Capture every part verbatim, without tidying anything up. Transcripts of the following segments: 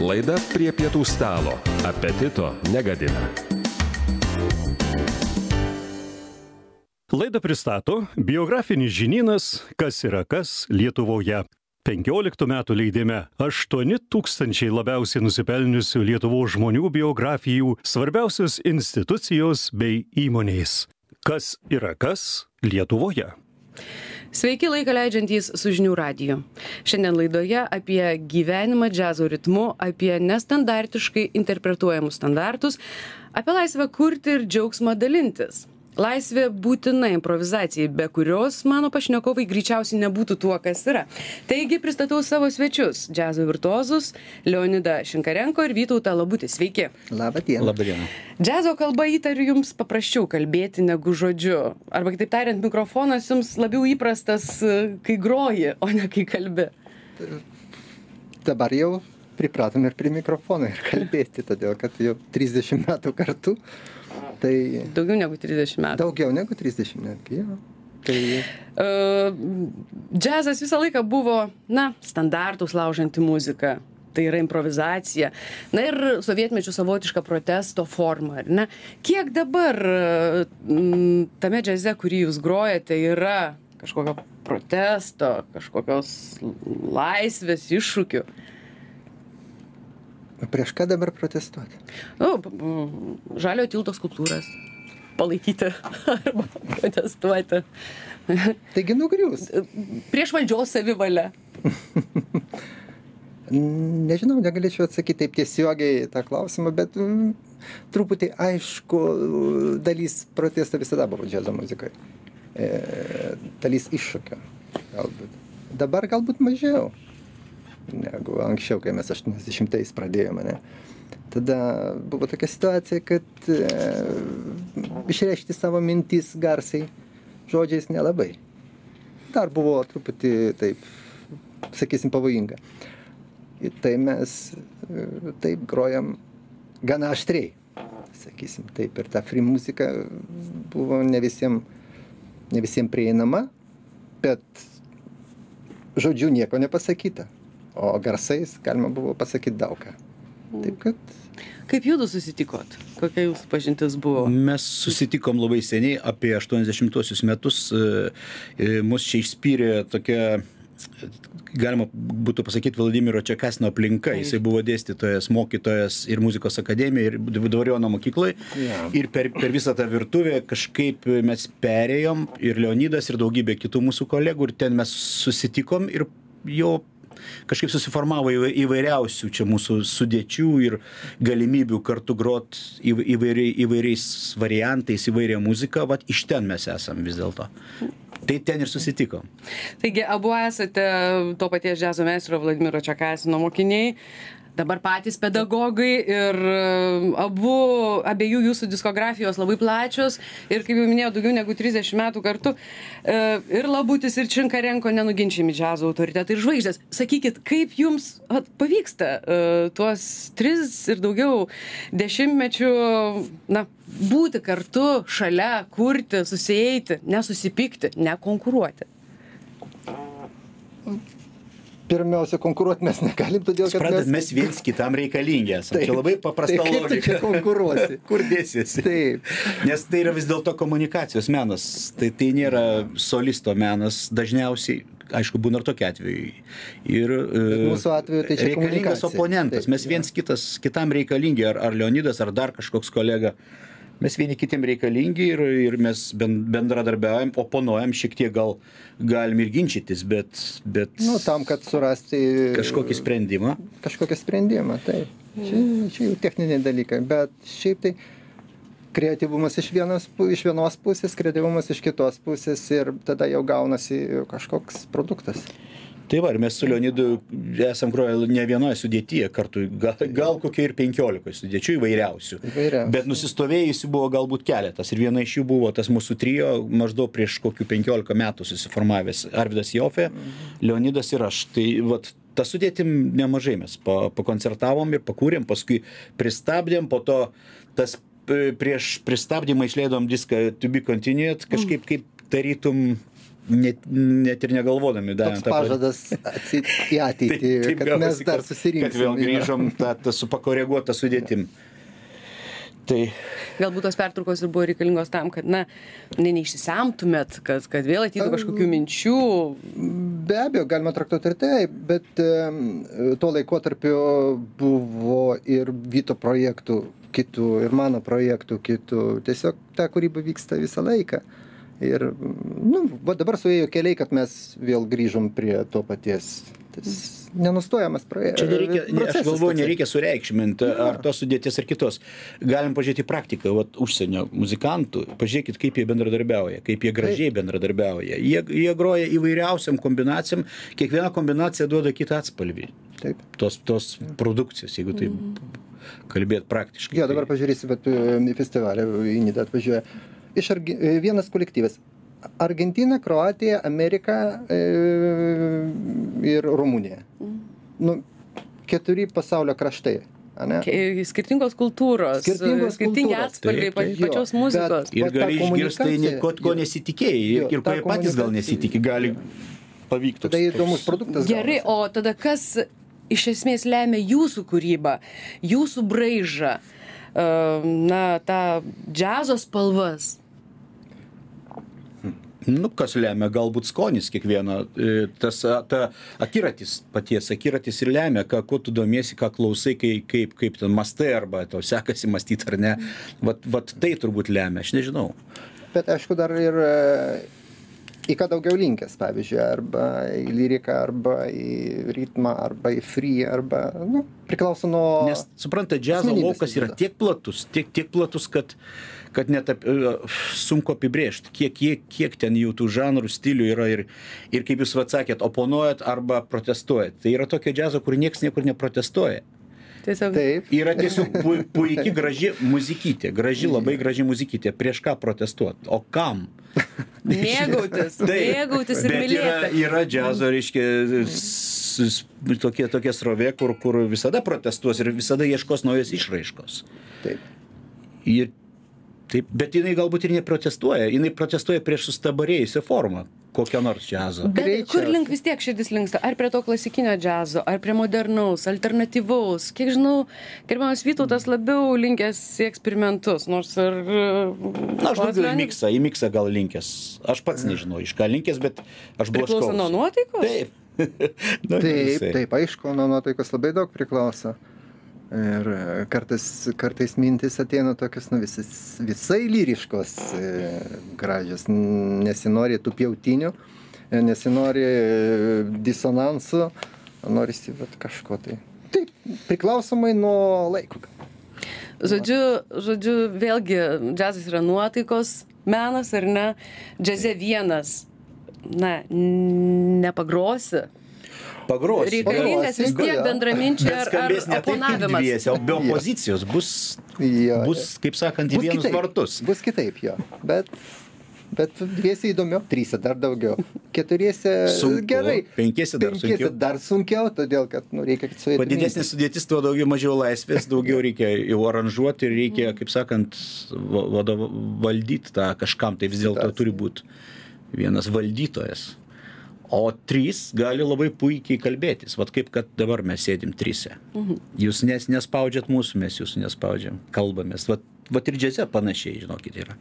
Laida prie pietų stalo. Apetito negadina. Laidą pristato biografinis žinynas Kas yra kas Lietuvoje. penkioliktų metų leidime aštuoni tūkstančiai labiausiai nusipelniusių Lietuvos žmonių biografijų, svarbiausios institucijos bei įmonės. Kas yra kas Lietuvoje? Sveiki laiką leidžiantys su žinių radiju. Šiandien laidoje apie gyvenimą džiazo ritmu, apie nestandartiškai interpretuojamus standartus, apie laisvę kurti ir džiaugsmą dalintis. Laisvė būtina improvizacijai, be kurios mano pašnekovai greičiausiai nebūtų tuo, kas yra. Taigi pristatau savo svečius, džiazo virtuozus Leonidą Šinkarenko ir Vytautą Labutį. Sveiki. Labą dieną. Labą dieną. Džiazo kalba įtariu jums paprasčiau kalbėti negu žodžiu. Arba kitaip tariant, mikrofonas jums labiau įprastas, kai groji, o ne kai kalbi. Dabar jau pripratom ir prie mikrofono ir kalbėti, todėl kad jau trisdešimt metų kartu. Tai daugiau negu trisdešimt metų. Daugiau negu trisdešimt netgi, jo. Tai... Uh, džiazas visą laiką buvo, na, standartus laužanti muzika. Tai yra improvizacija. Na ir sovietmečių savotiška protesto forma, ar ne? Kiek dabar m, tame džiaze, kurį jūs grojate, yra kažkokio protesto, kažkokios laisvės, iššūkių? Prieš ką dabar protestuoti? Nu, žaliojo tilto skulptūras palaikyti arba protestuoti. Taigi nugrius. Prieš valdžios savivalę. Nežinau, negalėčiau atsakyti taip tiesiogiai tą klausimą, bet mm, truputį aišku, dalis protesto visada buvo džiazo muzikoje. E, dalis iššūkio. Galbūt. Dabar galbūt mažiau negu anksčiau, kai mes aštuoniasdešimtais pradėjome. Ne? Tada buvo tokia situacija, kad e, išreikšti savo mintis garsiai žodžiais nelabai. Dar buvo truputį taip, sakysim, pavojinga. Ir tai mes e, taip grojam gana aštriai, sakysim. Taip, ir ta free muzika buvo ne visiem, ne visiem prieinama, bet žodžiu nieko nepasakyta. O garsais galima buvo pasakyti daug ką. Taip kad... Kaip jūsų susitikot? Kokia jūsų pažintis buvo? Mes susitikom labai seniai, apie aštuoniasdešimtuosius metus. Mus čia išspyrė tokia, galima būtų pasakyti, Vladimiro Čekasino aplinka. Jisai buvo dėstytojas, mokytojas ir muzikos akademijoje, ir Dvariono mokykloje. Ja. Ir per, per visą tą virtuvę kažkaip mes perėjom, ir Leonidas, ir daugybė kitų mūsų kolegų, ir ten mes susitikom ir jau kažkaip susiformavo įvairiausių čia mūsų sudėčių ir galimybių kartu grot įvairiai, įvairiais variantais, įvairia muzika. Vat iš ten mes esam vis dėlto. Tai ten ir susitikom. Taigi, abu esate to paties džiazo meistro Vladimiro Čekasino mokiniai, dabar patys pedagogai ir abu, abiejų jūsų diskografijos labai plačios ir, kaip jau minėjau, daugiau negu trisdešimt metų kartu. Ir Labutis, ir Šinkarenko nenuginčiami džiazo autoritetai ir žvaigždės. Sakykit, kaip jums at, pavyksta uh, tuos tris ir daugiau dešimtmečių, na, būti kartu, šalia, kurti, susieiti, nesusipykti, nekonkuruoti? Pirmiausia, konkuruoti mes negalim, todėl kad Suprantat, mes... mes viens kitam reikalingi esam. Taip, čia labai paprasta tai kaip tu logika. čia konkuruosi? Kur dėsiesi? Taip. Nes tai yra vis dėlto komunikacijos menas. Tai, tai nėra solisto menas dažniausiai. Aišku, būna ir tokie atvejai. Ir Bet mūsų atveju tai čia reikalingas komunikacija. oponentas. Taip, Mes viens kitas, kitam reikalingi, ar, ar Leonidas, ar dar kažkoks kolega. Mes vieni kitiem reikalingi ir, ir mes bendradarbiaujam, oponuojam, šiek tiek gal galim ir ginčytis, bet... bet Nu, tam, kad surasti... kažkokį sprendimą. Kažkokį sprendimą, taip. Čia, čia jau techniniai dalykai, bet šiaip tai kreatyvumas iš vienos, iš vienos pusės, kreatyvumas iš kitos pusės ir tada jau gaunasi kažkoks produktas. Tai va, ir mes su Leonidu esam groję ne vienoje sudėtyje kartu, gal, gal kokie ir penkiolikoje sudėčių įvairiausių. Įvairiausių. Bet nusistovėjusių buvo galbūt keletas. Ir viena iš jų buvo tas mūsų trio, maždaug prieš kokių penkiolika metų susiformavęs Arvydas Jofė, Leonidas ir aš. Tai vat, tą sudėtim nemažai mes pakoncertavom ir pakūrėm, paskui pristabdėm, po to tas prieš pristabdymą išleidom diską To Be Continued, kažkaip kaip tarytum net, net ir negalvodami. Toks pažadas atsit, į ateitį, taip, taip, kad mes dar susirinksim. Kad vėl grįžom tą, tą su pakoreguotą sudėtim. Tai... Galbūt tos pertraukos ir buvo reikalingos tam, kad, na, ne, neišsisemtumėt, kad, kad vėl ateitų kažkokių minčių. Be abejo, galima traktuoti ir tai, bet um, tuo laikotarpiu buvo ir Vyto projektų kitų, ir mano projektų kitų. Tiesiog ta kūryba vyksta visą laiką. Ir, nu, va dabar suėjo keliai, kad mes vėl grįžom prie to paties. Tas nenustojamas projektas. Čia nereikia, ne, aš galvoju, nereikia sureikšminti ar tos sudėties ar kitos. Galim pažiūrėti praktiką, vat, užsienio muzikantų, pažiūrėkit, kaip jie bendradarbiauja, kaip jie gražiai Taip. bendradarbiauja. Jie, jie groja įvairiausiam kombinacijom, kiekviena kombinacija duoda kitą atspalvį. Taip. Tos, tos produkcijos, jeigu taip mm. kalbėt praktiškai. Jo, dabar pažiūrėsi, bet į festivalį į Nidą atvažiuoja. Iš argi, vienas kolektyvas. Argentina, Kroatija, Amerika e, ir Rumunija. Mm. Nu, keturi pasaulio kraštai. Ane? Skirtingos kultūros, skirtingos skirtingi kultūros. atspalviai pa, pačios jo, muzikos. Ir gali išgirsti tai, ko, ko nesitikėjai, ir, ir ko patys gal nesitikė, gali pavykti. Tada įdomus produktas. Gerai, o tada kas iš esmės lemia jūsų kūrybą, jūsų braižą, na, tą džiazo spalvas? Nu, kas lemia, galbūt skonis kiekvieno, tas ta akiratis, paties akiratis ir lemia, ką, ko tu domiesi, ką klausai, kai, kaip, kaip ten mastai, arba tau sekasi mąstyti ar ne. Vat, vat tai turbūt lemia, aš nežinau. Bet aišku, dar ir į ką daugiau linkęs, pavyzdžiui, arba į lyriką, arba į ritmą, arba į free, arba, nu, priklauso nuo... Nes, supranta, džiazo laukas yra tiek platus, tiek, tiek platus, kad kad net ap, sunku apibrėžti, kiek, kiek, kiek ten jų tų žanrų, stilių yra ir, ir kaip jūs atsakėt, oponuojat arba protestuojat. Tai yra tokia džiazo, kur niekas niekur neprotestuoja. Tiesiog... Taip. Yra tiesiog pu, puikiai graži muzikytė, graži, labai graži muzikytė. Prieš ką protestuoti? O kam? Mėgautis, mėgautis ir mylėti. Yra, yra džiazo, reiškia, tokie, tokie srovė, kur, kur visada protestuos ir visada ieškos naujos išraiškos. Taip. Ir taip, bet jinai galbūt ir neprotestuoja, jinai protestuoja prieš sustabarėjusią formą, kokią nors džiazo. Bet Greičiausiai. Kur link vis tiek širdis linksta? Ar prie to klasikinio džiazo, ar prie modernaus, alternatyvaus? Kiek žinau, gerbiamas Vytautas labiau linkęs į eksperimentus, nors ir... Na, aš daugiau į miksą, į miksą gal linkęs. Aš pats nežinau, iš ką linkęs, bet aš blaškausi. Priklauso nuo nuotaikos? Taip. nu, taip, taip, aišku, nuo nuotaikos labai daug priklauso. Ir kartais, kartais mintis ateina tokios, nu, visai, visai lyriškos, gražios, nesinori tų pjautinių, nesinori disonansų, norisi vat, kažko tai. Taip, priklausomai nuo laiko. Žodžiu, žodžiu, vėlgi, džiazas yra nuotaikos menas, ar ne? Džiaze vienas, na, nepagrosi. Pagrosi. Reikalingas vis tiek bendraminčiai ar, ar oponavimas. Dviese, o be opozicijos bus, jo, bus kaip sakant, į vienus kitaip, vartus. Bus kitaip, jo. Bet, bet dviese įdomiau, tryse dar daugiau. Keturiese sunku, gerai. Penkiese dar penkiese sunkiau. dar sunkiau, todėl kad nu, reikia, kad suėtų. Padidesnė sudėtis, tuo daugiau mažiau laisvės, daugiau reikia jau aranžuoti ir reikia, kaip sakant, vadov, valdyti tą kažkam. Tai vis dėlto turi būti vienas valdytojas. O trys gali labai puikiai kalbėtis. Vat kaip kad dabar mes sėdim trise. Mhm. Jūs nes, nespaudžiat mūsų, mes jūsų nespaudžiam. Kalbamės. Vat, vat ir džiaze panašiai, žinokit, yra.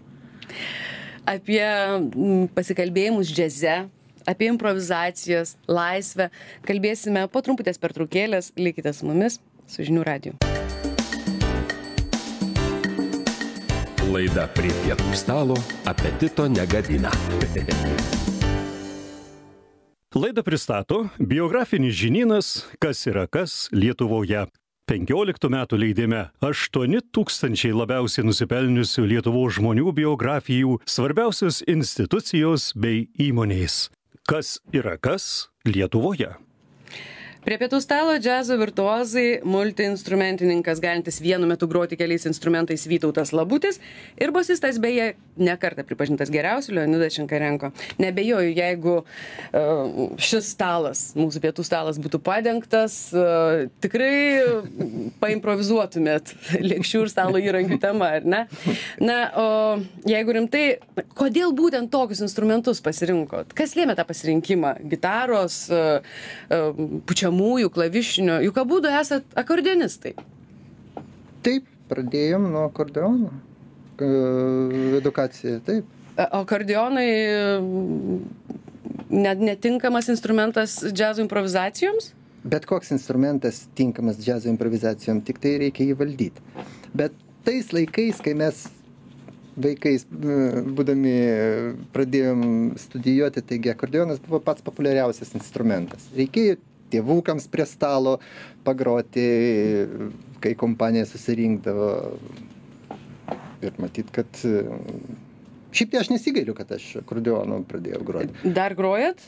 Apie pasikalbėjimus džiaze, apie improvizacijas, laisvę kalbėsime po trumputės pertraukėlės. Likite su mumis, su Žinių radiju. Laida Prie pietų stalo apetito negadina. Laidą pristato biografinis žinynas Kas yra kas Lietuvoje. penkioliktų metų leidime aštuoni tūkstančiai labiausiai nusipelniusių Lietuvos žmonių biografijų, svarbiausios institucijos bei įmonės. Kas yra kas Lietuvoje. Prie pietų stalo džiazo virtuozai, multiinstrumentininkas, galintis vienu metu groti keliais instrumentais Vytautas Labutis ir bosistas, beje, nekartą pripažintas geriausiu Leonidas Šinkarenko. Nebejoju, jeigu uh, šis stalas, mūsų pietų stalas būtų padengtas, uh, tikrai paimprovizuotumėt lėkščių ir stalo įrankių temą, ar ne? Na, o jeigu rimtai, kodėl būtent tokius instrumentus pasirinkot? Kas lėmė tą pasirinkimą? Gitaros, uh, uh, pučiamųjų, klavišinių, juk abudu esat akordeonistai. Taip, pradėjom nuo akordeono. Edukacija, taip. Akordeonai net netinkamas instrumentas džiazo improvizacijoms? Bet koks instrumentas tinkamas džiazo improvizacijom, tik tai reikia jį valdyti. Bet tais laikais, kai mes vaikais būdami pradėjom studijuoti, taigi akordeonas buvo pats populiariausias instrumentas. Reikėjo tėvukams prie stalo pagroti, kai kompanija susirinkdavo. Ir matyt, kad šiaip tai aš nesigailiu, kad aš akordeonu pradėjau groti. Dar grojat?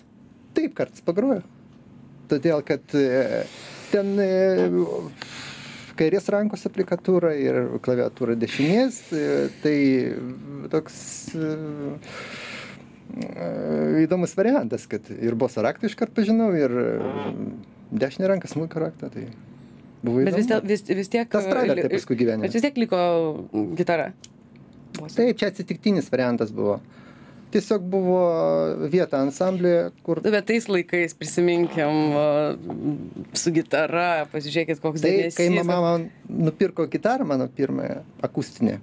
Taip, kartais pagroju. Todėl, kad ten kairės rankos aplikatūra ir klaviatūra dešinės, tai toks įdomus variantas, kad ir boso raktą iškart pažinau, ir dešinę ranką smuiko raktą, tai buvo įdomu. Bet vis, vis, vis tiek... Tas pravertė paskui gyvenime. Bet vis tiek liko gitara. Taip, čia atsitiktinis variantas buvo. Tiesiog buvo vieta ansamblėje, kur... Bet tais laikais prisiminkim su gitara, pasižiūrėkit, koks dėmesys. Tai, kai mama man nupirko gitarą, mano pirmąją akustinę,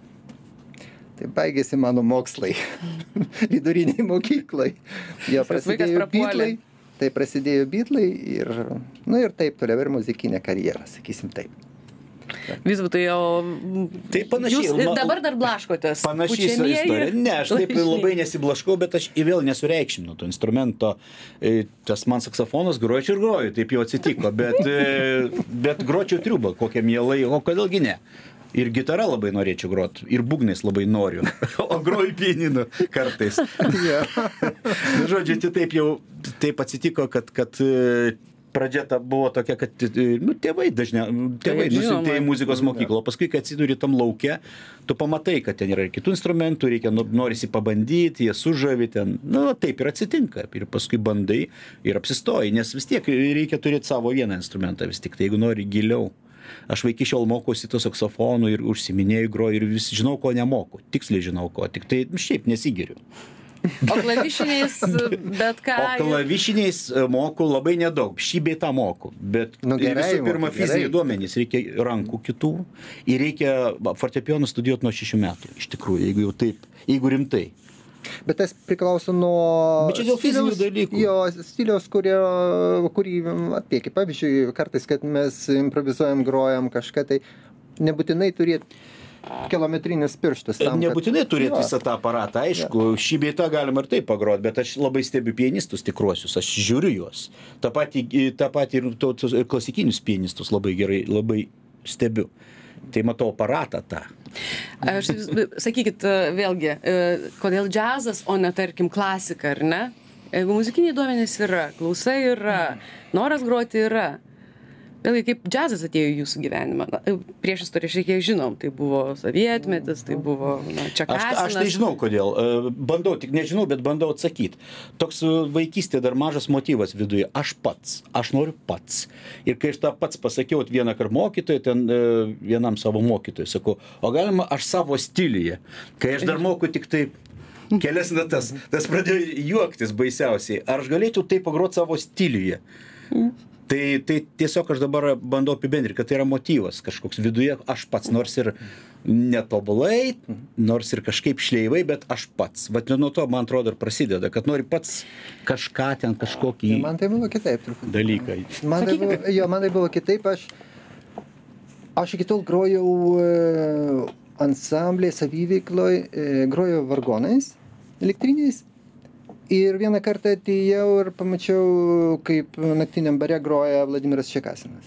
tai baigėsi mano mokslai viduriniai mokyklai. Jie prasidėjo Beatlai, tai prasidėjo Beatlai ir, nu, ir taip toliau ir muzikinė karjera, sakysim taip. Vytautai, o tai panašiai, jūs dabar dar blaškotės? Panašiai istorija. Ne, aš taip labai nesiblaškau, bet aš vėl nesureikšminu to instrumento. Tas man saksofonas gročiau ir groju, taip jau atsitiko, bet, bet gročiau triubą kokią mielai, o kodėlgi ne? Ir gitara labai norėčiau groti, ir būgnais labai noriu, o groju pianinu kartais. Žodžiu, tai taip jau taip atsitiko, kad, kad pradžia ta buvo tokia, kad nu, tėvai dažnai, tėvai nusiuntė į muzikos mokyklą, o paskui, kai atsiduri tam lauke, tu pamatai, kad ten yra ir kitų instrumentų, reikia, norisi pabandyti, jie sužavi ten, nu, taip ir atsitinka, ir paskui bandai ir apsistoji, nes vis tiek reikia turėti savo vieną instrumentą, vis tik tai, jeigu nori giliau. Aš vaikį šiol mokausi to saksofonų ir užsiminėjau, groju ir vis žinau, ko nemoku, tiksliai žinau ko, tik tai šiaip nesigiriu. O klavišiniais, bet ką... O klavišiniais moku labai nedaug, šį bei tą moku, bet nu, gerai, visų pirma fiziniai duomenys, reikia rankų kitų ir reikia fortepijoną studijuoti nuo šešių metų, iš tikrųjų, jeigu jau taip, jeigu rimtai. Bet tas priklauso nuo Bet čia dėl fizinių dalykų. Jo, stiliaus, kurio, kurį atlieki. Pavyzdžiui, kartais, kad mes improvizuojam, grojam kažką, tai nebūtinai turėti kilometrinius pirštus. Tam, nebūtinai kad... turėti jo. visą tą aparatą, aišku, jo. Šį bei tą galima ir taip pagroti, bet aš labai stebiu pianistus tikruosius, aš žiūriu juos. Ta patį, ta patį ir, to, ir klasikinius pianistus labai gerai, labai stebiu. Tai matau aparatą tą. Aš, sakykit, vėlgi, kodėl džiazas, o ne, tarkim, klasika, ar ne? Jeigu muzikiniai duomenys yra, klausa yra, noras groti yra. Vėlgi, kaip džiazas atėjo į jūsų gyvenimą? Prieš istoriją šiek tiek žinom, tai buvo sovietmetis, tai buvo na, Čekasinas. Aš, aš tai žinau, kodėl. Bandau, tik nežinau, bet bandau atsakyti. Toks vaikystė dar mažas motyvas viduje. Aš pats, aš noriu pats. Ir kai aš tą pats pasakiau vieną kartą mokytojui, ten vienam savo mokytojui, sakau, o galima aš savo stiliuje, kai aš dar moku tik taip kelias natas, tas pradėjo juoktis baisiausiai. Ar aš galėčiau tai pagroti savo stiliuje? Tai, tai tiesiog aš dabar bandau apibendrinti, kad tai yra motyvas kažkoks viduje, aš pats, nors ir netobulai, nors ir kažkaip šleivai, bet aš pats. Vat nuo to, man atrodo, ir prasideda, kad nori pats kažką ten, kažkokį man tai buvo kitaip, truputį. dalyką. Man tai buvo, jo, man tai buvo kitaip, aš, aš iki tol grojau ansamblėje, saviveikloje, grojau vargonais, elektriniais. Ir vieną kartą atėjau ir pamačiau, kaip naktiniam bare groja Vladimiras Čekasinas.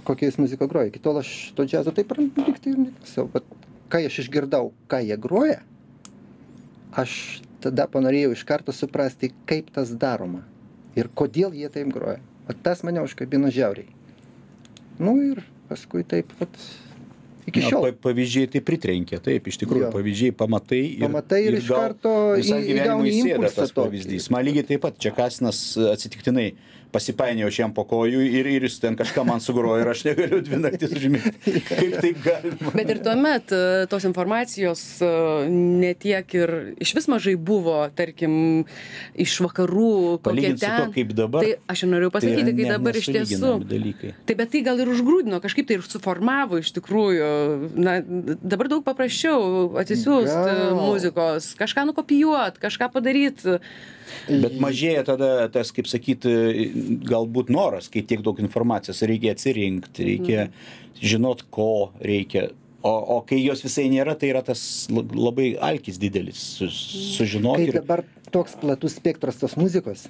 Kokią jis muziką groja. Iki tol aš to džiazo taip liktai ir neklausau. Bet kai aš išgirdau, ką jie groja, aš tada panorėjau iš karto suprasti, kaip tas daroma. Ir kodėl jie taip groja. O tas mane užkabino žiauriai. Nu ir paskui taip, vat, iki šiol. Na, pavyzdžiai tai pritrenkia, taip, iš tikrųjų, Jo. pavyzdžiai pamatai ir, Pamatai ir iš gal karto visam į- gyvenimui įgauni įsėda impulsą tas tokį. pavyzdys. Man lygiai taip pat Čekasinas atsitiktinai pasipainėjau šiam po kojų ir, ir jis ten kažką man sugrojo ir aš negaliu dvi naktis užmigti. Kaip tai galima? Bet ir tuomet e, tos informacijos e, ne tiek ir iš vis mažai buvo, tarkim, iš vakarų, kokie Palygint su ten. tuo, kaip dabar, Tai aš ir norėjau pasakyti, tai kai ne- dabar iš tiesų. nesulyginami dalykai. Tai bet tai gal ir užgrūdino, kažkaip tai ir suformavo iš tikrųjų. Na, dabar daug paprasčiau atsisiųsti Gal. muzikos, kažką nukopijuoti, kažką padaryti. Bet mažėja tada tas, kaip sakyti, galbūt noras, kai tiek daug informacijos, reikia atsirinkti, reikia žinot, ko reikia. O, o kai jos visai nėra, tai yra tas la- labai alkis didelis su, sužinoti. Kai dabar toks platus spektras tos muzikos,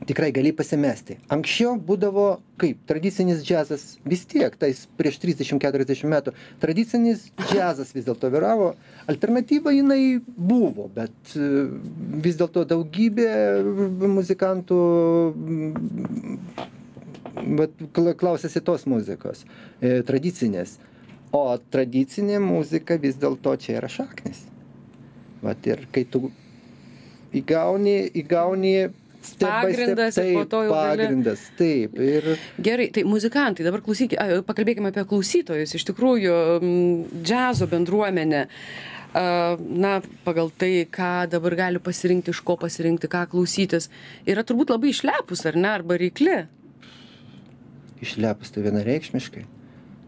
tikrai gali pasimesti. Anksčiau būdavo kaip tradicinis džiazas, vis tiek, tais prieš trisdešimt keturiasdešimt metų, tradicinis džiazas vis dėlto vyravo, alternatyva jinai buvo, bet e, vis dėlto daugybė muzikantų mm, vat, kla- klausėsi tos muzikos, e, tradicinės. O tradicinė muzika vis dėlto čia yra šaknis. Vat ir kai tu įgauni, įgauni step by step, Pagrindas ir po taip, to jau gali- pagrindas, taip. Ir Gerai, tai muzikantai, dabar klausykime, a, pakalbėkime apie klausytojus. Iš tikrųjų, m, džiazo bendruomenė, a, na, pagal tai, ką dabar gali pasirinkti, iš ko pasirinkti, ką klausytis, yra turbūt labai išlepus, ar ne, arba reikli. išlepus tai vienareikšmiškai.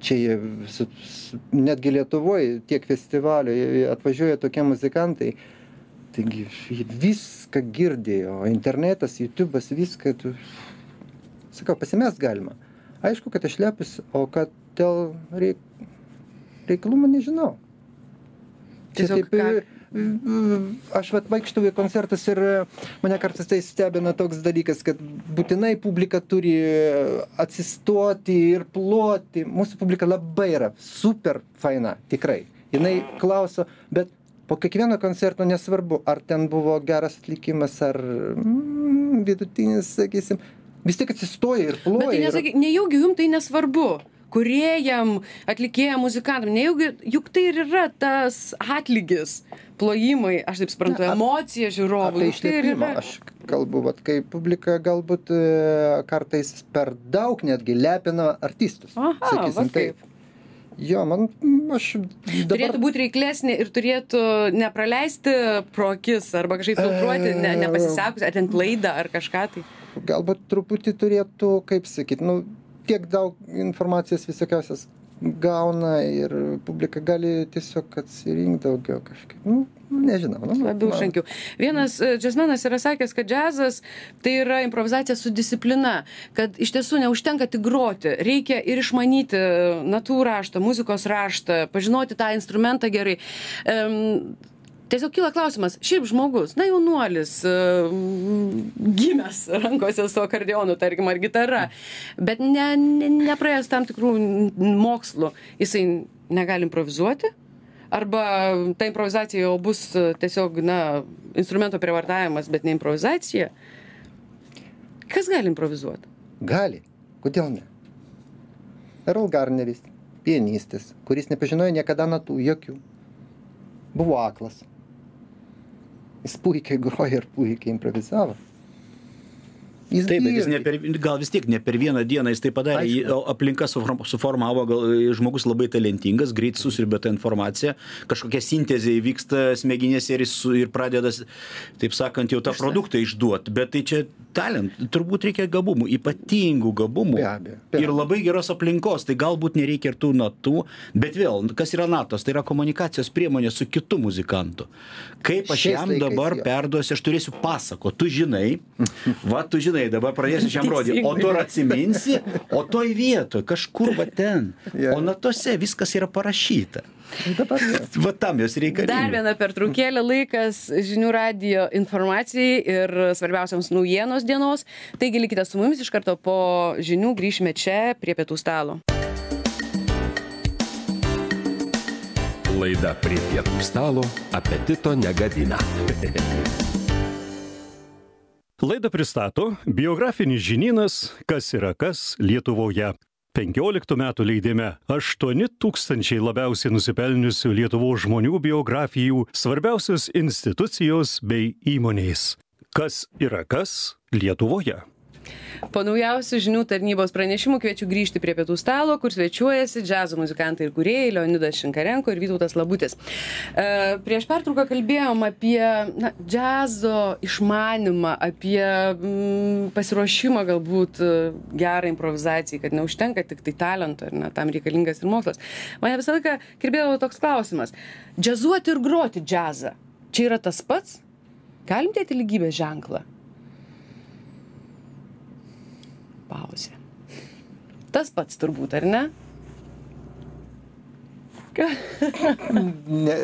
Čia jie su, su, netgi Lietuvoje tiek festivalių jie atvažiuoja tokie muzikantai, taigi jie viską girdėjo, internetas, YouTube'as, viską, tu, sakau, pasimest galima. Aišku, kad išlepus, o kad dėl reik, reikalumą nežinau. Čia Tiesiog taip, ką- aš vat vaikštau į koncertus ir mane kartais tai stebina toks dalykas, kad būtinai publika turi atsistoti ir ploti. Mūsų publika labai yra super faina, tikrai. Jinai klauso, bet po kiekvieno koncerto nesvarbu, ar ten buvo geras atlikimas, ar mm, vidutinis, sakysim, vis tiek atsistoja ir ploja. Bet tai ir- nesakyk, nejaugi jums tai nesvarbu. Kuriejam, atlikėjam, muzikantam, nejaugi, juk tai ir yra tas atlygis, plojimai, aš taip suprantu, Na, ap- emocija žiūrovų. Apie juk tai ir išlepimą yra. aš kalbu, vat, kai publika galbūt e, kartais per daug netgi lepina artistus. Aha, sakysim, va kaip. Jo, man, aš Turėtų dabar... būti reiklesnė ir turėtų nepraleisti pro akis arba kažkaip filtruoti, ne, nepasisekus, ar ten klaidą, ar kažką tai. Galbūt truputį turėtų, kaip sakyt, nu, tiek daug informacijos visokiausias gauna ir publika gali tiesiog atsirinkti daugiau kažkaip. Nu, nežinau. Nu, Labiau man- šankiau. Vienas e, džiazmenas yra sakęs, kad džiazas tai yra improvizacija su disciplina, kad iš tiesų neužtenka tik groti, reikia ir išmanyti natų raštą, muzikos raštą, pažinoti tą instrumentą gerai. Em, Tiesiog kyla klausimas, šiaip žmogus, na jaunuolis, em, gimęs rankose su akordeonu, tarkim, ar gitara, bet ne, ne, nepraėjęs tam tikrų mokslų, jisai negali improvizuoti? Arba ta improvizacija jau bus e, tiesiog, na, instrumento prievartavimas, bet ne improvizacija. Kas gali improvizuoti? Gali. Kodėl ne? Earl Garneris, pianistas, kuris nepažinojo niekada natų, jokių. Buvo aklas. Jis puikiai groja ir puikiai improvizavo. Jis Taip, bet jis girdi. ne per, gal vis tiek ne per vieną dieną jis tai padarė, Aišku. Jį- o aplinka suform- suformavo, gal žmogus labai talentingas, greit susirbė tą informaciją, kažkokia sintezė įvyksta smegenėse ir, jis su- ir pradeda, taip sakant, jau tą produktą išduoti, bet tai čia talent, turbūt reikia gabumų, ypatingų gabumų Be abejo, be ir abejo. labai geros aplinkos, tai galbūt nereikia ir tų natų, bet vėl, kas yra natos, tai yra komunikacijos priemonė su kitu muzikantu. Kaip aš Šiais jam laikais dabar jo. perduosiu, aš turėsiu pasako, tu žinai, va tu žinai, dabar pradėsiu šiam rodyti, o tu ir atsiminsi, o toj vietoj, kažkur va ten, Jo. o natose viskas yra parašyta. Dabar jo. Va tam jos Dar reikalinga. viena pertraukėlė, laikas žinių radijo informacijai ir svarbiausiams naujienos dienos. Taigi likite su mumis, iš karto po žinių grįšime čia prie pietų stalo. Laida prie pietų stalo apetito negadina. Laidą pristato biografinis žinynas Kas yra kas Lietuvoje. penkioliktų metų leidime aštuoni tūkstančiai labiausiai nusipelniusių Lietuvos žmonių biografijų, svarbiausios institucijos bei įmonės. Kas yra kas Lietuvoje. Po naujausių žinių tarnybos pranešimų kviečiu grįžti prie pietų stalo, kur svečiuojasi džiazo muzikantai ir kūrėjai Leonidas Šinkarenko ir Vytautas Labutis. E, prieš pertrauką kalbėjom apie na, džiazo išmanimą, apie mm, pasiruošimą galbūt gerą improvizacijai, kad neužtenka tik tai talento, ir na, tam reikalingas ir mokslas. Mane visą laiką kirbėjo toks klausimas. Džiazuoti ir groti džiazą. Čia yra tas pats? Galim dėti lygybės ženklą? Pauzė. Tas pats turbūt, ar ne? Ne,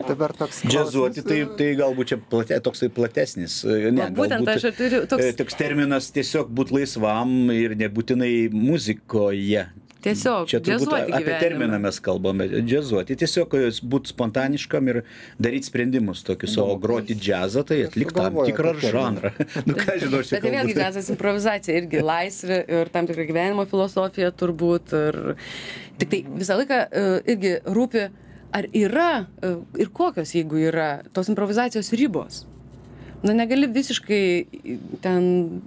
dabar toks Džiazuoti, tai, tai galbūt čia plate, toksai platesnis. Ne, Va, būtent galbūt, aš ir turiu toks... toks terminas tiesiog būt laisvam ir nebūtinai muzikoje. Tiesiog čia turbūt džiazuoti apie gyvenimą. terminą mes kalbame. Džiazuoti. Tiesiog būti spontaniškam ir daryti sprendimus tokius, o groti džiazą, tai atlikti tam sugalvojo tikrą tą terminą. žanrą. Nu ką žinau, aš čia Bet tai vėlgi džiazas improvizacija, irgi laisvė ir tam tikra gyvenimo filosofija turbūt. Ir... Tik tai visą laiką uh, irgi rūpi, ar yra uh, ir kokios, jeigu yra, tos improvizacijos ribos. Na, negali visiškai ten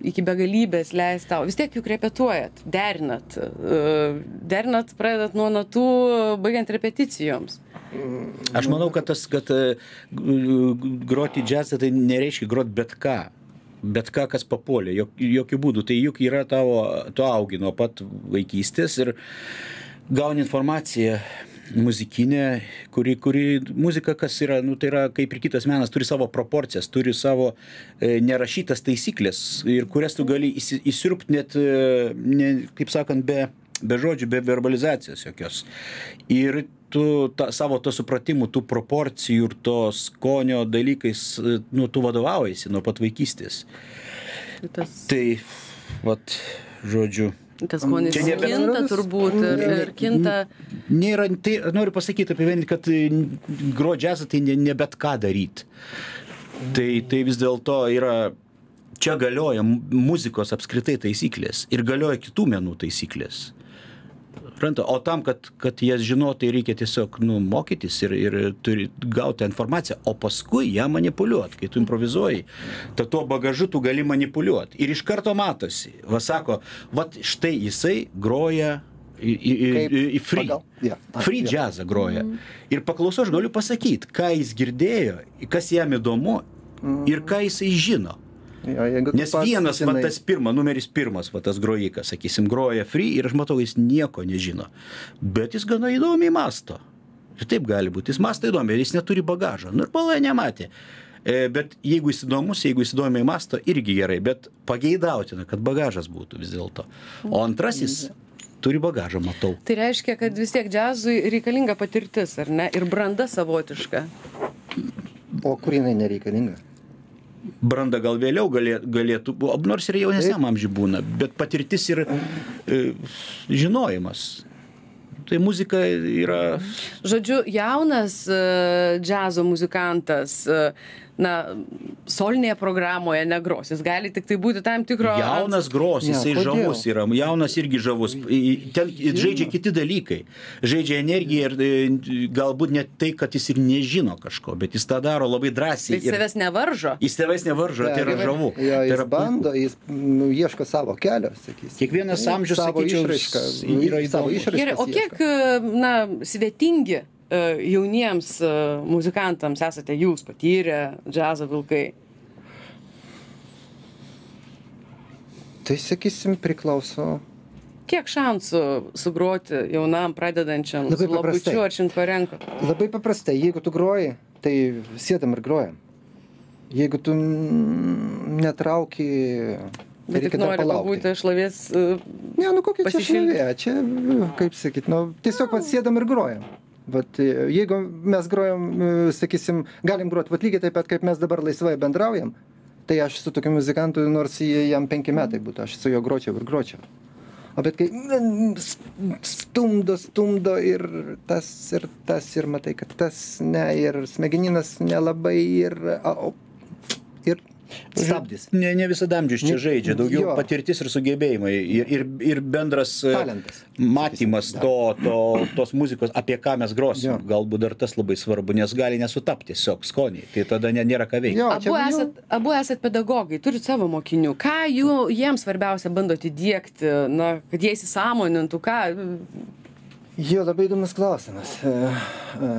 iki begalybės leisti tau. Vis tiek juk repetuojat, derinat. Uh, derinat, pradedat nuo natų, baigiant repeticijoms. Aš manau, kad tas, kad uh, groti džiazą, tai nereiškia groti bet ką. Bet ką, kas papuolė, jok, jokių būdų. Tai juk yra tavo, tu augi nuo pat vaikystės ir gauni informaciją muzikinė, kuri, kuri muzika, kas yra, nu, tai yra kaip ir kitas menas, turi savo proporcijas, turi savo e, nerašytas taisyklės, ir kurias tu gali įsi, įsirpti net, e, ne, kaip sakant, be, be žodžių, be verbalizacijos jokios. Ir tu ta, savo to supratimų, tų proporcijų ir to skonio dalykais, nu, tu vadovaujasi nuo pat vaikystės. Tas... Tai, vat, žodžiu, Tas skonis Čia nebe- kinta turbūt ir, ir kinta. Nėra, tai noriu pasakyti apie vienį, kad groti džiazą tai ne, ne bet ką daryti. Tai, tai vis dėlto yra, čia galioja muzikos apskritai taisyklės ir galioja kitų menų taisyklės. Ranta, o tam, kad, kad jas žinotai, reikia tiesiog nu, mokytis ir, ir turi gauti informaciją, o paskui ją manipuliuoti. Kai tu improvizuoji, tai tuo bagažu tu gali manipuliuoti. Ir iš karto matosi, va sako, va štai jisai groja į, į, į, į free, pagal, yeah, free yeah. jazzą groja. Mm. Ir paklausau, aš galiu pasakyti, ką jis girdėjo, kas jam įdomu mm. ir ką jisai žino. Jo, Nes vienas, va, tas pirma, numeris pirmas, va, tas grojikas, sakysim, groja free ir aš matau, jis nieko nežino. Bet jis gana įdomiai masto. Ir taip gali būti. Jis masto įdomiai, jis neturi bagažo. Nu ir palai nematė. E, bet jeigu jis įdomus, jeigu jis įdomiai masto, irgi gerai. Bet pageidautina, kad bagažas būtų vis dėlto. O antrasis turi bagažą, matau. Tai reiškia, kad vis tiek džiazui reikalinga patirtis, ar ne? Ir branda savotiška. O kur jinai nereikalinga? Branda gal vėliau galėtų, galėtų nors ir jaunesniam amžiui būna, bet patirtis ir e, žinojimas. Tai muzika yra... Žodžiu, jaunas uh, džiazo muzikantas, uh, na, solinėje programoje negros. Jis gali tik tai būti tam tikro... Jaunas gros, Ne, jisai kodėl? žavus yra. Jaunas irgi žavus. I- Ten žaidžia kiti dalykai. Žaidžia energiją ir e, galbūt net tai, kad jis ir nežino kažko, bet jis tą daro labai drąsiai. Jis savęs nevaržo. Jis tavęs nevaržo, tai yra žavu. Jo, Tai jis yra bando, jis nu, ieško savo kelio, sakysim. Kiekvienas amžius, savo sakyčiau, išraišką, yra savo įdomus. išraišką. Gerai, o kiek, na, svetingi uh, jauniems uh, muzikantams esate jūs patyrę džiazo vilkai? Tai, sakysim, priklauso. Kiek šansų sugroti jaunam pradedančiam Labai su Labučiu paprastai. ar Šinkarenko? Labai paprastai, jeigu tu groji, tai sėdam ir grojam. Jeigu tu mm, netrauki, tai Bet tik reikia dar nori palaukti. pabūti šlovės. Uh, Ne, nu kokia čia pasišildyti. šlovė, čia, kaip sakyt, nu, tiesiog vat sėdam ir grojam. Vat, e, jeigu mes grojam, e, sakysim, galim groti, vat lygiai taip pat, kaip mes dabar laisvai bendraujam, tai aš su tokiu muzikantu, nors jie- jam penki metai būtų, aš su juo gročiau ir gročiau. O bet kai mm, stumdo, stumdo ir tas, ir tas, ir matai, kad tas ne, ir smegeninas nelabai, ir, a, o, ir stabdis. Ne, ne visada amžius čia žaidžia, daugiau Jo. patirtis ir sugebėjimai ir, ir, ir bendras e, Talentas. matymas Sakysim, to, to, tos muzikos, apie ką mes grosim. Jo. Galbūt dar tas labai svarbu, nes gali nesutapti tiesiog skoniai, tai tada ne, nėra ką veikti. Jo, Abu čia- esat, abu esat pedagogai, turit savo mokinių. Ką jų, jiems svarbiausia bandot įdiegti, na, kad jie įsisąmonintų, ką... Jo, labai įdomus klausimas. E, e,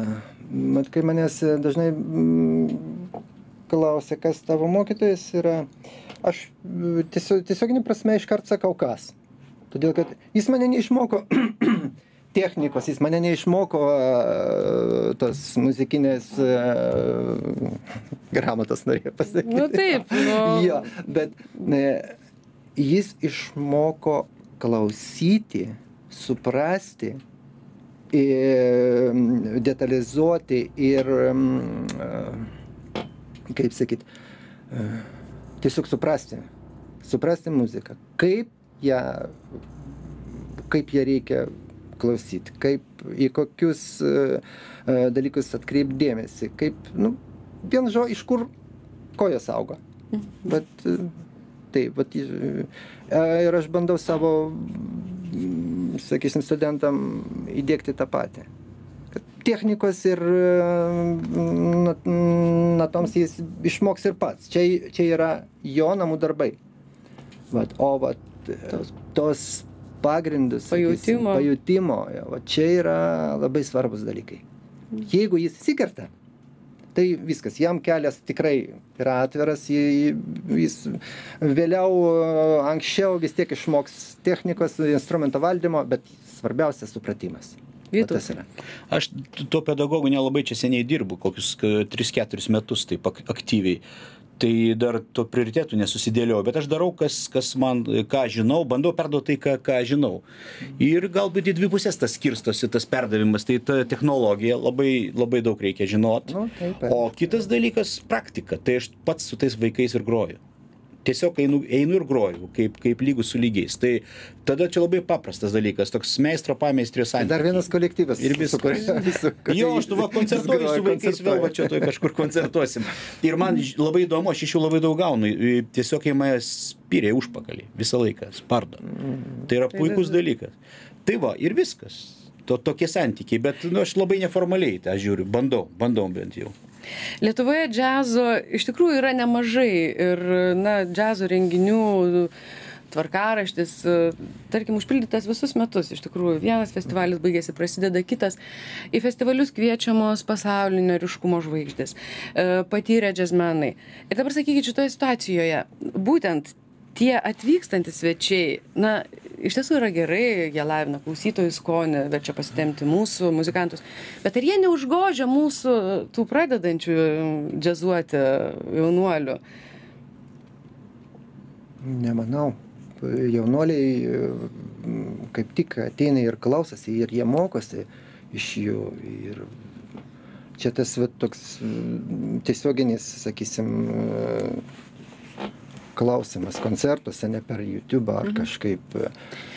Mat, kai manęs dažnai mm, klausia, kas tavo mokytojas yra, aš mm, tiesiog, tiesioginį prasme iškart sakau kas. Todėl, kad jis mane neišmoko technikos, jis mane neišmoko e, tos muzikinės e, gramatos, norėjau pasakyti. Nu taip, nu... Jo, bet e, jis išmoko klausyti, suprasti, ir detalizuoti ir, kaip sakyt, tiesiog suprasti, suprasti muziką, kaip ją, kaip ją reikia klausyti, kaip į kokius dalykus atkreipti dėmesį, kaip, nu, vien žo, iš kur kojos auga. Bet taip, bet, ir aš bandau savo, sakysim, studentam įdiegti tą patį. Kad technikos ir natoms jis išmoks ir pats. Čia, čia yra jo namų darbai. Vat, o vat, tos, tos pagrindus, sakysim, Pajutimo. pajutimo, jo, vat, čia yra labai svarbus dalykai. Jeigu jis įsikerta, tai viskas, jam kelias tikrai yra atviras, jį- jis vėliau, anksčiau vis tiek išmoks technikos, instrumento valdymo, bet svarbiausia supratimas. Va Vytautai. tas yra. Aš tuo pedagogu nelabai čia seniai dirbu, kokius tris keturis metus taip ak- aktyviai. Tai dar to prioritetų nesusidėliau, bet aš darau, kas, kas man, ką žinau, bandau perduoti tai, ką, ką žinau. Ir galbūt į dvi pusės tas skirstosi, tas perdavimas, tai ta technologija labai, labai daug reikia žinoti. Nu, taip, O kitas dalykas - praktika. Tai aš pats su tais vaikais ir groju. Tiesiog einu, einu ir groju, kaip, kaip lygus su lygiais. Tai tada čia labai paprastas dalykas, toks meistro pameistrio santykiai. Dar vienas kolektyvas. Ir viskas. su kuriuo- su kuriuo Jo, aš tu va koncertuoju jis su groja, vaikais, vėl va čia toj kažkur koncertuosim. Ir man ž- labai įdomu, aš iš jų labai daug gaunu. I- Tiesiog jie mane spyrė užpakalį visą laiką, spardo. Tai yra puikus dalykas. Tai va, ir viskas. To, tokie santykiai, bet nu, aš labai neformaliai tą žiūriu, bandau, bandau bent jau. Lietuvoje džiazo iš tikrųjų yra nemažai ir, na, džiazo renginių tvarkaraštis, tarkim, užpildytas visus metus. Iš tikrųjų, vienas festivalis baigėsi, prasideda kitas. Į festivalius kviečiamos pasaulinio ryškumo žvaigždės, e, patyrę džiazmenai. Ir dabar sakykit, šitoje situacijoje, būtent tie atvykstantys svečiai, na, iš tiesų yra gerai, jie lavina klausytojų skonį, verčia pasitemti mūsų muzikantus, bet ar jie neužgožia mūsų tų pradedančių džiazuoti jaunuolių? Nemanau. Jaunuoliai mm, kaip tik ateina ir klausosi, ir jie mokosi iš jų. Ir čia tas va, toks mm, tiesioginis, sakysim, klausimas koncertuose, ne per YouTube ar kažkaip.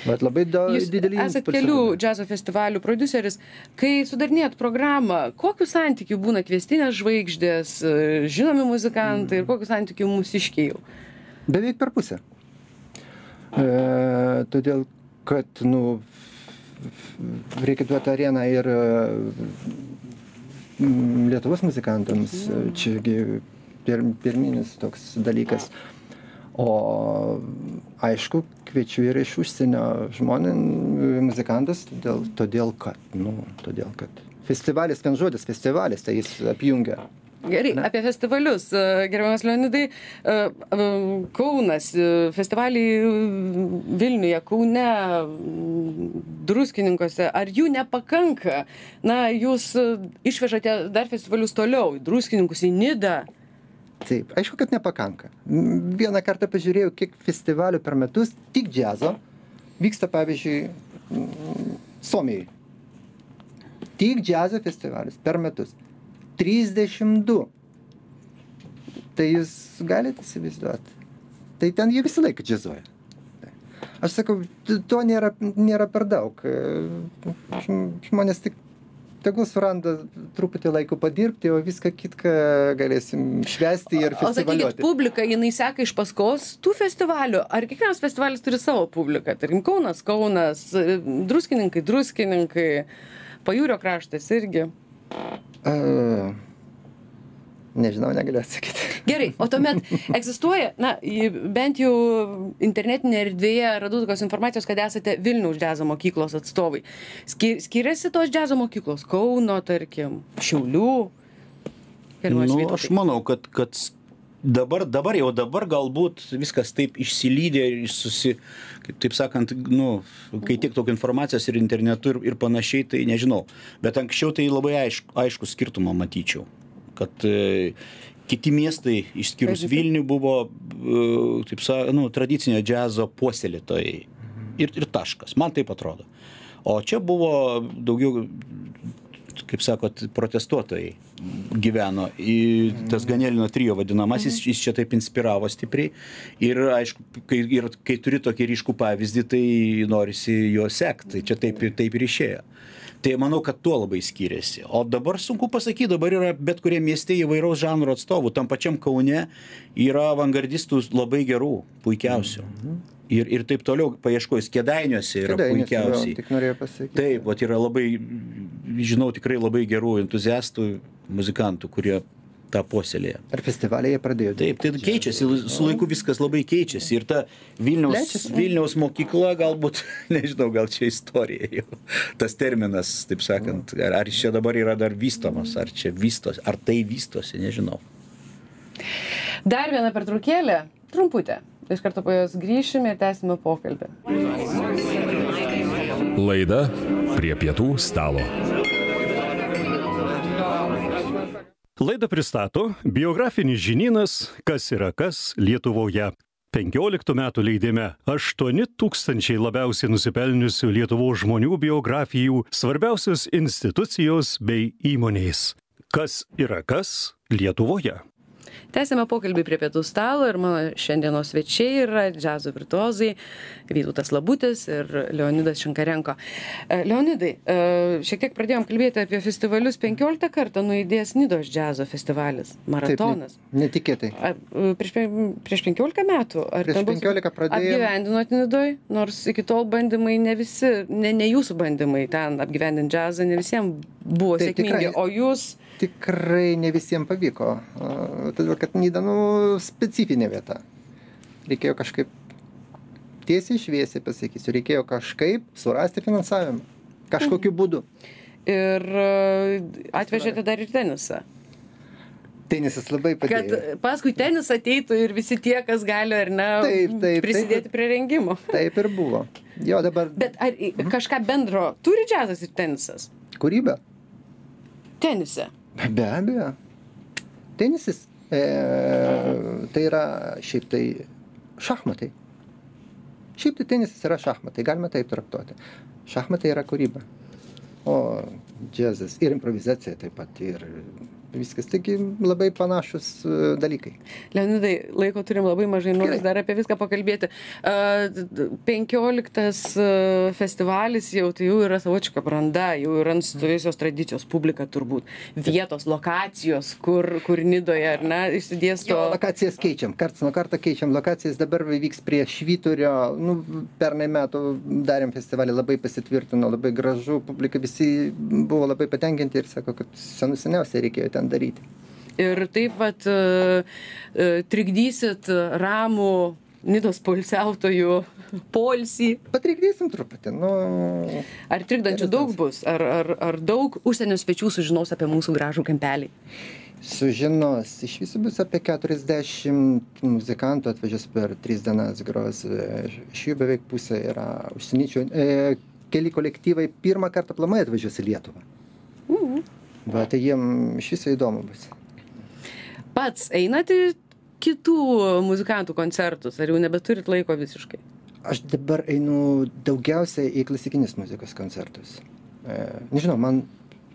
Bet labai da, Jūs didelį esat impulsą kelių duoda. džiazo festivalių prodiuseris. Kai sudarinėjat programą, kokiu santykiu būna kviestinės žvaigždės, žinomi muzikantai ir kokiu santykiu mūsiškiai jau? Beveik per pusę. E, todėl, kad, nu, reikia duoti areną ir mm, Lietuvos muzikantams. Čiagi pir, pirminis toks dalykas. O aišku, kviečiu ir iš užsienio žmonės, muzikantus, todėl, todėl kad, nu, todėl kad festivalis, vien žodis festivalis, tai jis apjungia. Gerai, apie festivalius. Gerbiamas Leonidai, Kaunas, festivaliai Vilniuje, Kaune, Druskininkuose, ar jų nepakanka? Na, jūs išvežate dar festivalius toliau, į Druskininkus, į Nidą. Taip, aišku, kad nepakanka. M, Vieną kartą pažiūrėjau, kiek festivalių per metus, tik džiazo, vyksta, pavyzdžiui, m, Suomijai. Tik džiazo festivalis per metus. trisdešimt du. Tai jūs galite įsivaizduoti. Tai ten jie visą laiką džiazuoja. Aš sakau, t- to nėra, nėra per daug. E, žm- Žmonės tik tegul suranda truputį laiko padirbti, o viską kitką galėsim švęsti ir O sakykit, festivaliuoti. publika, jinai seka iš paskos tų festivalių? Ar kiekvienas festivalis turi savo publiką? Tarkim, Kaunas, Kaunas, Druskininkai, Druskininkai, Pajūrio kraštas irgi. Uh, nežinau, negaliu atsakyti. Gerai, o tuomet egzistuoja, na, į- bent jau internetinėje erdvėje radau tokios informacijos, kad esate Vilniaus džiazo mokyklos atstovai. Ski- Skiriasi tos džiazo mokyklos? Kauno, tarkim, Šiaulių? Gerbiamas Nu, Vytautai. aš manau, kad, kad s- dabar, dabar jau dabar galbūt viskas taip išsilydė ir susi, kaip taip sakant, nu, kai tiek daug informacijos ir internetu ir, ir panašiai, tai nežinau. Bet anksčiau tai labai aišku, aišku skirtumą matyčiau, kad e, kiti miestai, išskyrus Pavyzdžiui? Vilnių, buvo, e, taip sakant, nu, tradicinio džiazo puoselėtojai. Ir, ir taškas, man taip atrodo. O čia buvo daugiau, kaip sakot, protestuotojai gyveno. Į tas Ganelino trio vadinamasis, jis čia taip inspiravo stipriai. Ir aišku, kai, ir, kai turi tokį ryškų pavyzdį, tai norisi jo sekti. Tai čia taip, ir- taip ir išėjo. Tai manau, kad tuo labai skiriasi. O dabar sunku pasakyti, dabar yra bet kurie mieste įvairaus žanro atstovų. Tam pačiam Kaune yra avangardistų labai gerų, puikiausių. Ir, ir taip toliau, paieškojus, Kėdainiuose yra Kėdainiuose, puikiausiai. jo, tik norėjau pasakyti. Taip, vat yra labai, žinau, tikrai labai gerų entuziastų, muzikantų, kurie tą puoselėja. Ar festivaliai jie pradėjo? Taip, tai keičiasi, su laiku viskas labai keičiasi. Ir ta Vilniaus, Plečiasi. Vilniaus mokykla galbūt, nežinau, gal čia istorija jau, tas terminas, taip sakant, ar, ar čia dabar yra dar vystomas, ar čia vystosi, ar tai vystosi, nežinau. Dar viena pertraukėlė, trumputė. Iš karto po jos grįšime ir tęsime pokalbį. Laida prie pietų stalo. Laidą pristato biografinis žinynas Kas yra kas Lietuvoje. penkioliktų metų leidime aštuoni tūkstančiai labiausiai nusipelniusių Lietuvos žmonių biografijų, svarbiausios institucijos bei įmonės. Kas yra kas Lietuvoje. Tęsime pokalbį prie pietų stalo ir mano šiandienos svečiai yra džiazo virtuozai Vytautas Labutis ir Leonidas Šinkarenko. E, Leonidai, e, šiek tiek pradėjom kalbėti apie festivalius. penkioliktą kartą nuaidėjęs Nidos džiazo festivalis, maratonas. Taip, ne- netikėtai. A, e, prieš, pe- prieš penkiolika metų? Ar Prieš ten buvo- penkiolika pradėjom. Apgyvendinot Nidoj, nors iki tol bandymai ne visi, ne, ne jūsų bandymai ten apgyvendinti džiazą, ne visiems buvo Taip, sėkmingi, tikrai. o jūs... Tikrai ne visiems pavyko, a, todėl kad Nida, nu, specifinė vieta. Reikėjo kažkaip, tiesiai šviesiai pasakysiu, reikėjo kažkaip surasti finansavimą. Kažkokiu būdu. Ir e, atvežėte dar ir tenisą. Tenisas labai Kad padėjo. paskui tenisą ateitų ir visi tie, kas gali ar ne Taip, taip, prisidėti taip. prie rengimo. Taip ir buvo. Jo, dabar Bet ar i- kažką bendro turi džiazas ir tenisas? kūryba. Tenise. Be abejo. Tenisas e, tai yra šiaip tai šachmatai. Šiaip tai tenisas yra šachmatai, galima taip traktuoti. Šachmatai yra kūryba. O džiazas ir improvizacija taip pat ir viskas. Taigi labai panašus e, dalykai. Leonidai, laiko turim labai mažai, noriu Gerai. dar apie viską pakalbėti. penkioliktas festivalis jau, tai jau yra savočiška branda, jau yra nusistovėjusios tradicijos, publika turbūt, vietos, lokacijos, kur, kur Nidoje, ar ne, išsidėsto. Jo, lokacijas keičiam, karts nuo karto keičiam lokacijas, dabar vyks prie Švyturio, nu, pernai metų darėm festivalį, labai pasitvirtino, labai gražu, publika visi buvo labai patenkinti ir sako, kad senų seniausiai reikėjo ten daryti. Ir taip vat e, e, trikdysit ramų Nidos poilsiautojų poilsį. Patrikdysim truputį, nu... Ar trikdančių daug bus? Ar, ar, ar daug užsienio svečių sužinos apie mūsų gražų kampelį? Sužinos, iš viso bus apie keturiasdešimt muzikantų atvažiuos per tris dienas gros, iš jų beveik pusė yra užsieniečių. E, keli kolektyvai pirmą kartą aplamai atvažiuos į Lietuvą. Mhm. Va, tai jiem iš viso įdomu bus. Pats einat į kitų muzikantų koncertus, ar jau nebeturit laiko visiškai? Aš dabar einu daugiausiai į klasikinės muzikos koncertus. E, nežinau, man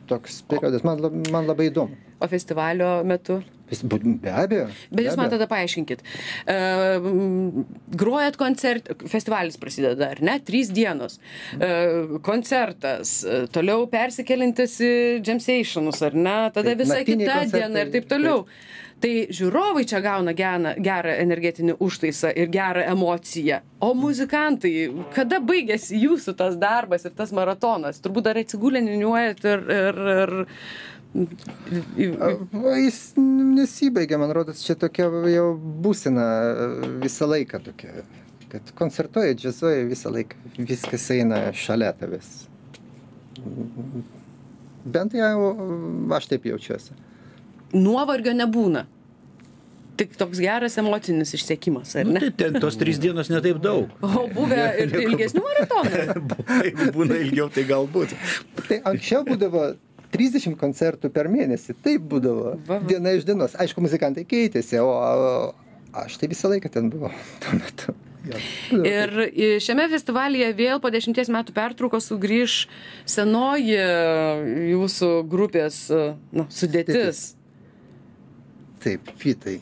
toks periodas, man, lab- man labai įdomu. O festivalio metu? Be abejo. Bet jūs man tada paaiškinkit. Uh, grojat koncert, festivalis prasideda, ar ne? Trys dienos. Uh, koncertas, uh, toliau persikeliantis į Jamsationus, ar ne? Tada Taip, visa naktiniai kita koncertai, diena ir taip toliau. Taip. Tai žiūrovai čia gauna gerą, gerą energetinį užtaisą ir gerą emociją. O muzikantai, kada baigėsi jūsų tas darbas ir tas maratonas? Turbūt dar atsigulę niūniuojat ir... ir, ir O jis nesibaigia, man rodos, čia tokia jau būsena visą laiką tokia, kad koncertuoja, džiazuoja visą laiką, viskas eina šalia tavęs. Bent jau aš taip jaučiuosi. Nuovargio nebūna. Tik toks geras emocinis išsekimas, ar ne? Nu, tai ten tos trys dienos ne taip daug. O buvę ir ilgesnių maratonų? Jeigu būna ilgiau, tai galbūt. Tai anksčiau būdavo trisdešimt koncertų per mėnesį, taip būdavo, Va, va. diena iš dienos. Aišku, muzikantai keitėsi, o aš tai visą laiką ten buvau tuo metu. Jo, būdavo Ir i- šiame festivalyje vėl po dešimties metų pertraukos sugrįž senoji jūsų grupės na, sudėtis. taip, fitai.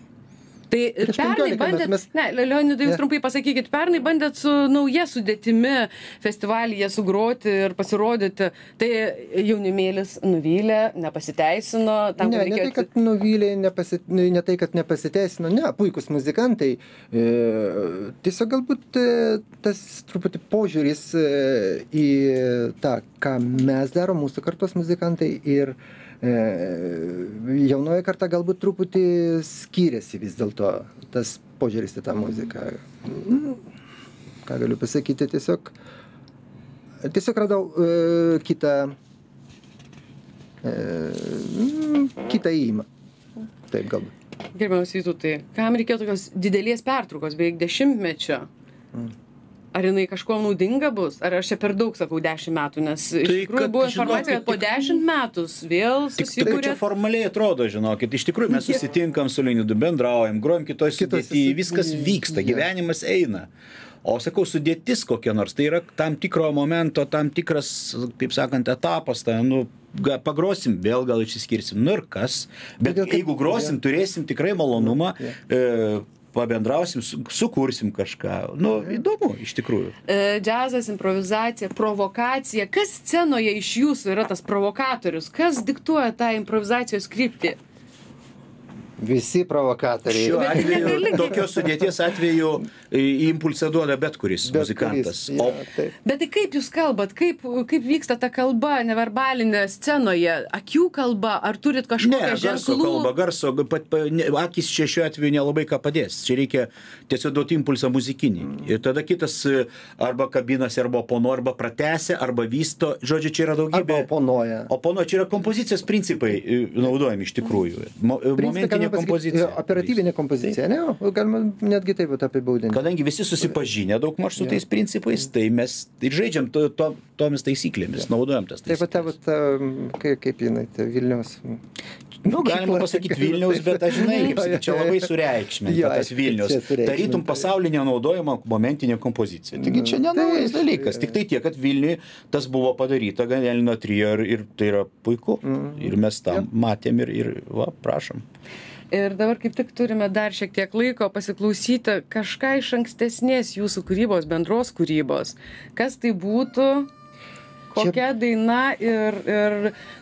Tai Prieš pernai penkiolika bandėt, metų mes- ne, Leonidai, jūs Ne. trumpai pasakykit, pernai bandėt su nauja sudėtimi festivalyje sugroti ir pasirodyti. Tai jaunimėlis nuvylė, nepasiteisino. Tam, Ne, kad ne tai, reikėjo- kad nuvylė, nepasi, ne tai, kad nepasiteisino, ne, puikus muzikantai. E, tiesiog galbūt e, tas truputį požiūris e, į tą, ką mes darom, mūsų kartos muzikantai ir e, jaunoji karta galbūt truputį skiriasi vis dėlto tas požiūris į tą muziką. Mm, Ką galiu pasakyti, tiesiog, tiesiog radau e, kitą e, mm, kitą įimą. Taip galbūt. Gerbiamas Vytautai, kam reikėjo tokios didelės pertraukos, beveik dešimtmečio? Ar jinai kažkuo naudinga bus? Ar aš čia per daug sakau dešimt metų, nes iš Tai, tikrųjų kad, buvo informacija, žinokit, kad po tik- dešimt metus vėl Tik, tik susikūrė. čia formaliai atrodo, žinokit, iš tikrųjų mes susitinkam su Leonidu, bendraujam, grojam kitoj Kitoj sudėty, sudėty, viskas vyksta, jo. gyvenimas eina. O sakau, sudėtis kokia nors, tai yra tam tikro momento, tam tikras, taip sakant, etapas, tai, nu, ga- pagrosim, vėl gal išsiskirsim, nu ir kas. Bet Todėl, kad- jeigu grosim, turėsim tikrai malonumą, e, pabendrausim, su- sukursim kažką. Nu, įdomu, iš tikrųjų. E, džiazas, improvizacija, provokacija. Kas scenoje iš jūsų yra tas provokatorius? Kas diktuoja tą improvizacijos kryptį? Visi provokatoriai. Šiuo Bet atveju, negali- tokios sudėties atveju į impulsą duoda bet kuris Bet muzikantas. kuris, jo, taip. Bet tai kaip jūs kalbat? Kaip, kaip vyksta ta kalba neverbalinė scenoje? Akių kalba? Ar turit Ne, kažkokią garso ženklų? kalba, garso, pat, pa, ne, akis čia šiuo atveju nelabai ką padės. Čia reikia tiesiog duoti impulsą muzikinį. Ir tada kitas e, arba kabinasi, arba oponuoja, arba pratęsia, arba vysto. Žodžiu, čia yra daugybė. Arba oponuoja. Oponuoja, čia yra kompozicijos principai e, naudojami iš tikrųjų. Mo, Principe, momentinė galima pasakyti, kompozicija. operatyvinė kompozicija, ne? O galima netgi taip vat apibūdinti. Kadangi visi susipažinę daugmaž su tais principais, tai mes ir žaidžiam to, to, tomis taisyklėmis, naudojam tas Taip pat tavo, taisyklės. ta, kaip, kaip jinai, ta Vilniaus. Nu, galima pasakyti Vilniaus, bet aš žinai, kaip sakyti, čia labai Jo, sureikšminta tas aišku, Vilnius. čia sureikšminta. Tarytum pasaulinė naudojama momentinė kompozicija. Taigi čia nenaujas taip, dalykas. Tik tai tiek, kad Vilniui tas buvo padaryta Ganelino trio ir, ir tai yra puiku. Ir mes tam matėm ir, ir va, prašom. Ir dabar kaip tik turime dar šiek tiek laiko pasiklausyti kažką iš ankstesnės jūsų kūrybos, bendros kūrybos. Kas tai būtų, kokia daina ir, ir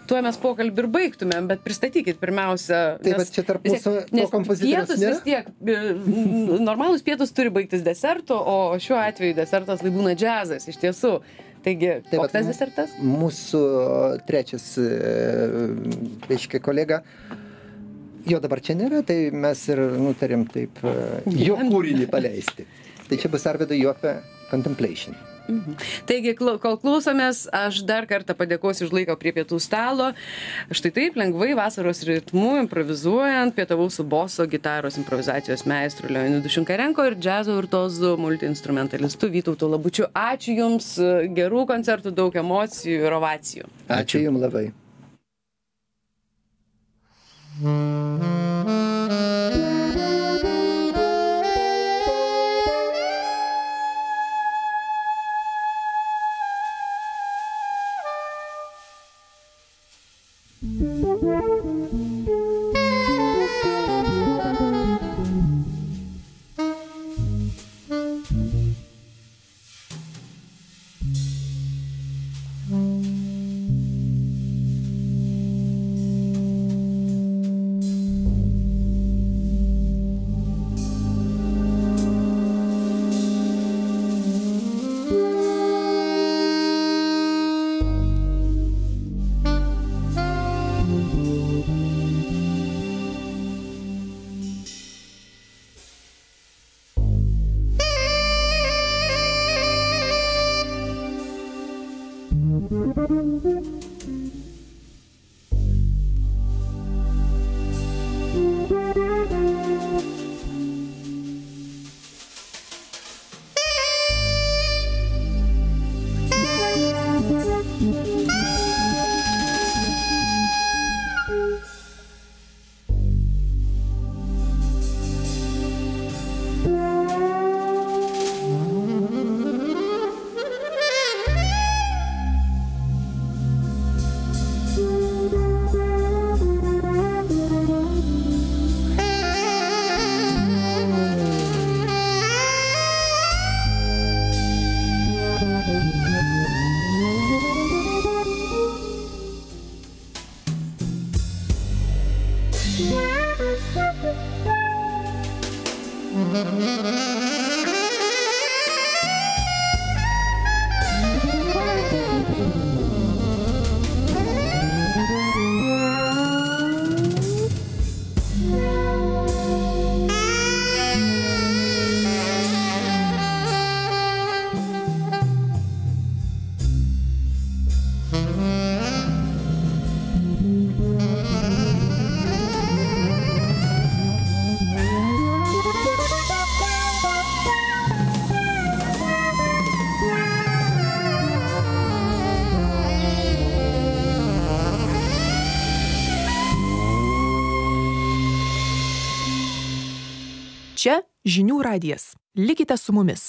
tuo mes pokalbį ir baigtumėm, bet pristatykit pirmiausia. Taip, nes bet čia tarp vis tiek- mūsų to nes kompozitoriaus pietus nėra? vis tiek, e, normalūs pietus turi baigtis desertu, o šiuo atveju desertas lai būna džiazas iš tiesų. Taigi, Taip, koks tas vat desertas? Mūsų trečias, e, reiškia, kolega, jo dabar čia nėra, tai mes ir nutarėm taip e, jo kūrinį paleisti. Tai čia bus Arvido Jofė Contemplation. Taigi, klau- kol klausomės, aš dar kartą padėkosiu už laiką prie pietų stalo. Štai taip, lengvai vasaros ritmu, improvizuojant, pietavau su boso gitaros improvizacijos meistru Leonidu Šinkarenko ir džiazo virtuozu multiinstrumentalistu Vytautu Labučiu. Ačiū Jums, gerų koncertų, daug emocijų ir ovacijų. Ačiū Jums labai. Thank you. Čia žinių radijas. Likite su mumis.